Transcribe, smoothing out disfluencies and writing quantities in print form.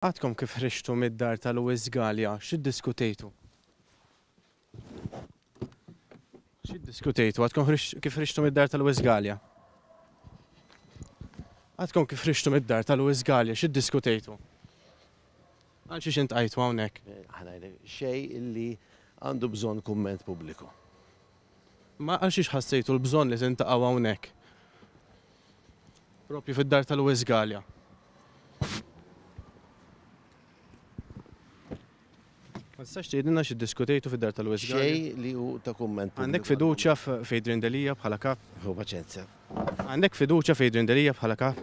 Għadkom kif ħriġtu mid-dar ta' Louis Galea, x'iddiskutejtu? X'iddiskutejtu? Għadkom kif ħriġtu mid-dar ta' Louis Galea? Għadkom kif ħriġtu mid-dar ta' Louis Galea, x'iddiskutejtu? Għal xiex intqajtu hawnhekk? Aħna xejn illi għandu bżonn kumment pubbliku. Ma għal xiex ħassejtu l-bżonn li tintaqgħu hawnhekk? Propju fid-dar ta' Louis Galea. Ma tistax tgħidilna xi ddiskutejtu fid-dar ta' Louis Galea? Xejn li hu ta' kumment pubbliku. Għandek fiduċja f'Adrian Delia bħala kap? Ħu paċenzja. Għandek fiduċja f'Adrian Delia bħala kap?